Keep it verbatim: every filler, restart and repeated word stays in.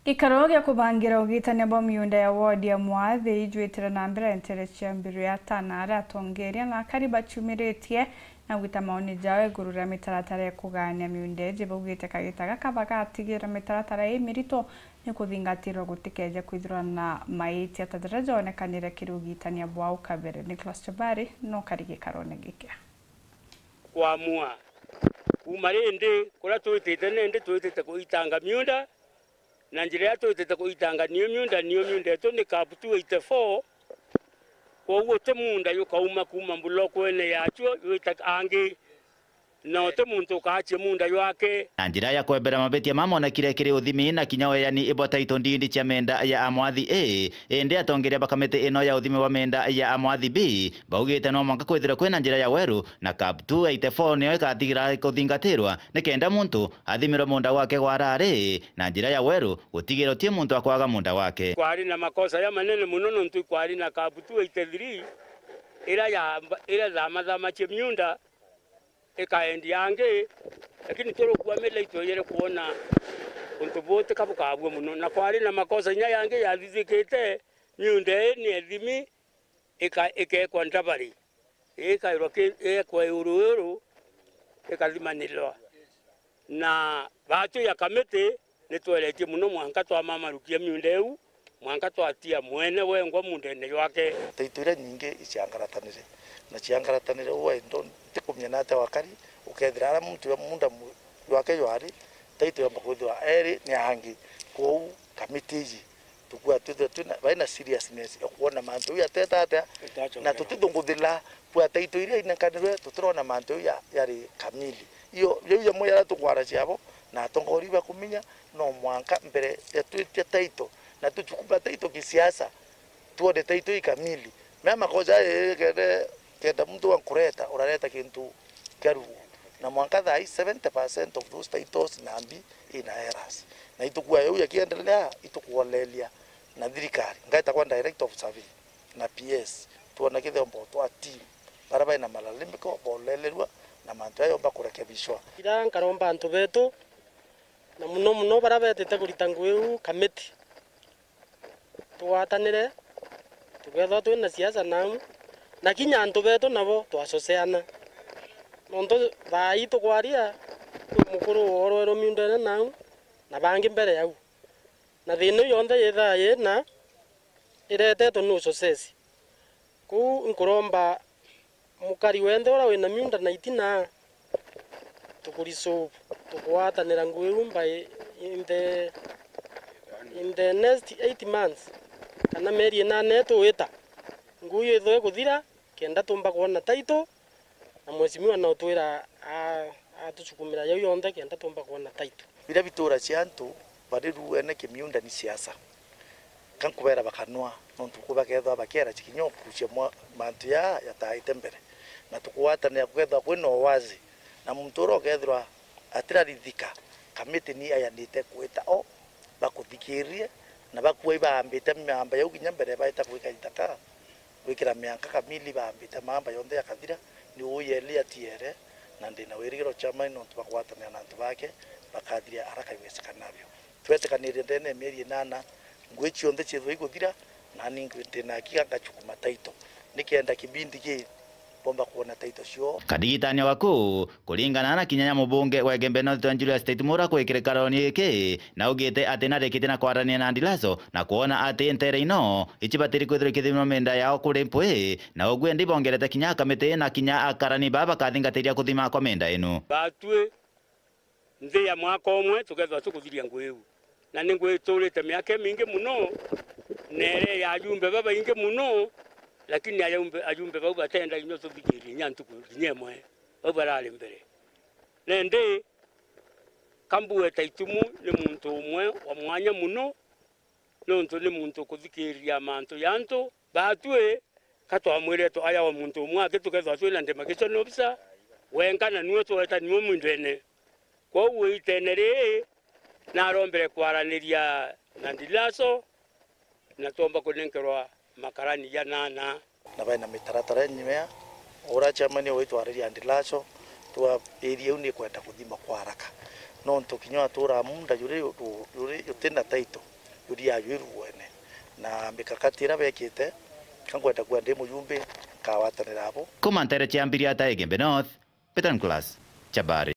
Gikaro gia kubangira ugitania bwa miunda ya ward ya Mwathi ijwitire na mbere ntere cia mbiru ya tana aria atongeria na akari bachumiritie na gwita maoni jao iguru ria mitaratara ya kugania miunda iji. Baugite kagita gaka bagatigira mitaratara ii mirito ni kuthingatirwa gutikeje kwithirwa na maitia ta jaria jonekanire kiri ugitania bwao kabere. Nicholas Chobari no kari gikarone giki. Kwamua. Kuuma rindi, kuria twitite nindi twitite kuitanga miunda, na njira iria twitite kuitanga niyo miunda, niyo miunda yetu ni kab two eighty four. Kwoguo ti munda jukauma kuuma mbulokwene yacio jwita angi, na uti muntu ukaacia munda jwake. Na njira ya kwembera mabitia mamonekire kiri uthimi na kinya weani bwa title deed cia menda ya Amwathi ii, Indi atongeria ba kamiti ino ya uthimi bwa menda ya Amwathi B baugite no mwanka kwithirwe kwina njira ya weru, na kab two eighty four niyo ikatigira kuthingatirwa nikenda muntu athimirwe munda gwake gwa arari na njira ya weru, gutigira uti muntu akwaga munda gwake. Kwari na makosa jamanene mono nontu ikwari na kab two eighty three iria ya, iria thamathamacie miunda ikaendi angi, lakini turukua mila itwejere kwona untu buti ka bukabua mono. Na kwari na makosa inya yangi yathithikite, miunda ii ni ethimi, ika-, ikekwa ndabari, ikairwa ki-, ikekwa iuru iuru, ikathimanirwa. Na baatu ya kamiti, ni tweretie mono mwanka twamamarukia miunda iu, mwanka twatia mwene wengwa mundene jwake. Taito iria nyingi iciangaratanire, na ciangaratanire uu endo ntikumenya nate wakari, ukethira ara muntu ya munda mu-, jwake jwari, taito yomba kwithirwa eri ni angi. Kwou kamiti iji tukua twithirwa twina, baina seriousness ya kwona mantu jau yateta atia, na tutithunguthila bwa taito iria inenkanirwe, tutirona mantu jau ya, yari kamili. Iyo, jau jamwe jaria tukwaracia abo, na atongoria bakuminya, no mwanka mbere ya twitia taito, na tuchukuma taito kisiasa, tuone taito i kamili. Mea makosa jaja kende, kenda muntu wa nkureta, urareta kintu kia ruo. Na mwanka thaa ii seventy percent of those titles nambi ina errors. Na itukua jau yakiendelea, itukuolelia na thirikari. Ngaita kwa Director of Survey na P S, tuone kithombo twa team. Baria baina malalamiko bolelerua na mantu jaya yomba kurekebishwa. Ira nkaromba antu betu, na muno muno baria betite kurita ngui iu kamiti, tugwatanire, tukethirwa twina siasa nau, na kinya antu betu nabo twacoceana. Nontu thaa ii tukwaria, kwi mukuru worwerwe miundene nau, na bangi mbere yau. Na thina iu yonthe yithaa yina iretetwe ni ucoceci. Kwou nkuromba mukari wenthe uria wina miunda na itina, tukuresolve, tukugwatanira ngui iu by in the, in the next eight months, kana mieri inana ituwita, ngui iu ithwe ikuthira, kenda tumba kwona title, na mheshimiwa no twira a-, atusukumira jau yonthe kenda tumba kwona title. Biria bitura cia antu bari ruene kimiunda ni siasa. Ka nkubera bakanwa, nontu ku bakethwa bakiera cikinya ukucia mwa-, mantu jaa jataite mbere. Na tukugwatanira kukethwa kwina uwazi, na muntu uria ukethirwa atirarithika, kamiti ni ayanite kwita o bakuthikiririe, na bakua ibaambite miamba jau kinya mbere baita gwika ithaka. Gwikira mianka kamili baambite maamba yonthe yakathira, ni uu yeli atiere, na ndina wirigiro chairman nontu bwa kugwatanira na antu bake, bakathiria haraka iwezekanavyo. Twetikanirie ndene ya mieri inana, ngui cionthe ciithwe iguthira, nani ndina akiga ngachukuma title, nikenda kibindi ki bomba kuona title cio. Kadigitania wa kuu, kuringana na kinya ya mubunge wa Igembe North Julius Taitmura kwikirika roni giki, na augite ati narikitie na kwarania na Ndilaso na kwona ati ntere ino icibatiri kwithirwa ikithimirwa menda yao kuri mpwi, na uguo ndi bongerete kinya akamiti na kinya akarani baa bakathingatiria kuthima kwa menda inu. Batwi nthi ya mwaka umwe tukethirwa tukuthiria ngui iu. Na ni ngui iturite miaka imingi mono, na iri ya ajumbe babaingi mono, lakini ajumbe, ajumbe bau batenda kinya tuthikirie kinya ntuku kinya imwe, bau barari mbere. Nandi, ka mbue Taitmura ni muntu umwe wa mwanya mono, nontu ni muntu ukuthikiriria mantu ja antu. Batwi, ka twamwire tu-, aja o muntu umwe aki tukethirwa twina demarcation officer, wenka na niwe tweta niwe mwindene. Kwou itene riri, narombere kwaraniria na Ndilaso, na twomba kunenkerwa makarani janana. Na baina mitaratara inyimea, uria chairman ugwitwa Ariria Ndilaso, twa area iu nikwenda kuthima kwa haraka. Nontu kinya watura munda juri, juri jutina title, Kuria ajuiru wene na mikakati iria bekite, ka nkwenda kuga ndi mujumbe, nkagwatanira abo. Kuma ntere cia Mbiriata Igembe North, Peter Nicholas, Chabari.